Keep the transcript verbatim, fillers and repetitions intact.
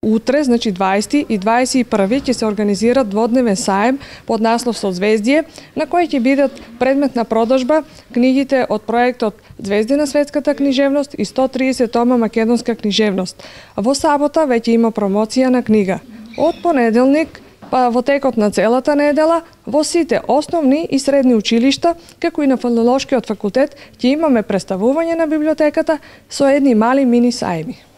Утре, значи дваесети и дваесет и први ќе се организира дводневен саем под наслов Созвездие, на кој ќе бидат предмет на продажба книгите од проектот Звезди на светската книжевност и сто триесет тома македонска книжевност. Во сабота веќе има промоција на книга. Од понеделник па во текот на целата недела во сите основни и средни училишта, како и на Филолошкиот факултет, ќе имаме представување на библиотеката со едни мали мини сајми.